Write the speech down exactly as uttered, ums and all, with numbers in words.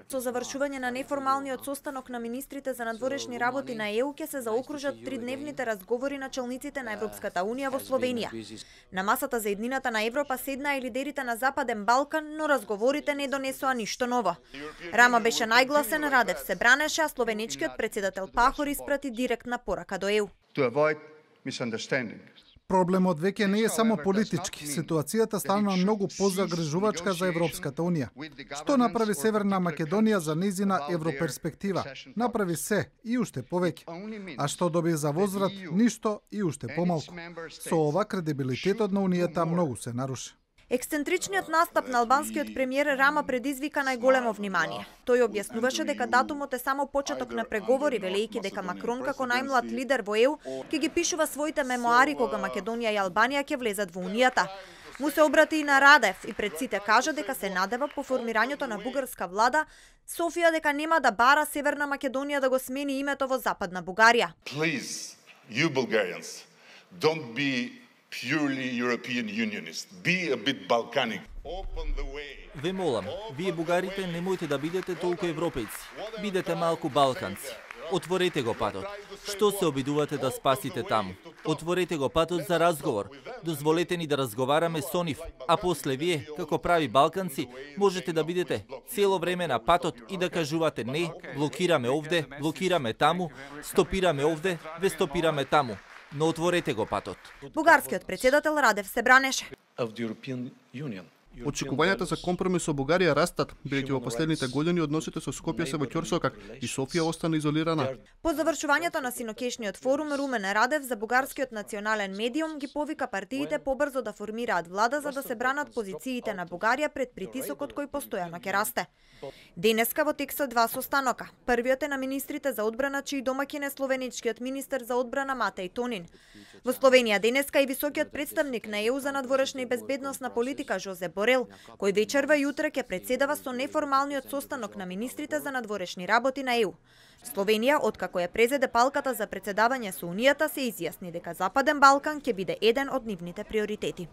Со завршување на неформалниот состанок на министрите за надворешни работи на Е У ќе се заокружат тридневните разговори на челниците на Европската унија во Словенија. На масата за еднината на Европа седнаа и лидерите на Западен Балкан, но разговорите не донесоа ништо ново. Рама беше најгласен, Радев се бранеше, а словенечкиот председател Пахор испрати директна порака до Е У. Проблемот веќе не е само политички. Ситуацијата стана многу позагрижувачка за Европската унија. Што направи Северна Македонија за незина европерспектива? Направи се и уште повеќе. А што доби за возврат? Ништо и уште помалку. Со ова кредибилитетот на унијата многу се наруши. Ексцентричниот настап на албанскиот премиер Рама предизвика најголемо внимание. Тој објаснуваше дека датумот е само почеток на преговори, велејќи дека Макрон како најмлад лидер во Е У ќе ги пишува своите мемоари кога Македонија и Албанија ќе влезат во унијата. Му се обрати и на Радев и пред сите кажа дека се надева по формирањето на бугарска влада Софија дека нема да бара Северна Македонија да го смени името во Западна Бугарија. Please, you Bulgarians, don't be purely European unionist. Be a bit Balkanic. Open the way. Ве молам, вие бугарите немојте да бидете толку европејци. Бидете малку балканци. Отворете го патот. Што се обидувате да спасите таму? Отворете го патот за разговор. Дозволете ни да разговараме со нив, а после вие, како прави балканци, можете да бидете цело време на патот и да кажувате не, блокираме овде, блокираме таму, стопираме овде, ве стопираме таму. Но отворете го патот. Бугарскиот председател Радев се бранеше. Очекувањата за компромис со Бугарија растат, бидејќи во последните години односите со Скопје се во ќорсокак и Софија остана изолирана. По завршувањето на синокешниот форум, Румен Радев за бугарскиот национален медиум ги повика партиите побрзо да формираат влада за да се бранат позициите на Бугарија пред притисокот кој постојано ќе расте. Денеска во текстот два состанока. Првиот е на министрите за одбрана, чиј домаќин е словеничкиот министер за одбрана Матеј Тонин. Во Словенија денеска и високиот представник на Е У за надворешна и безбедносна политика Жозе Борел, кој вечерва и утре ќе председава со неформалниот состанок на министрите за надворешни работи на Е У. Словенија, откако ја презеде палката за председавање со Унијата, се изјасни дека Западен Балкан ќе биде еден од нивните приоритети.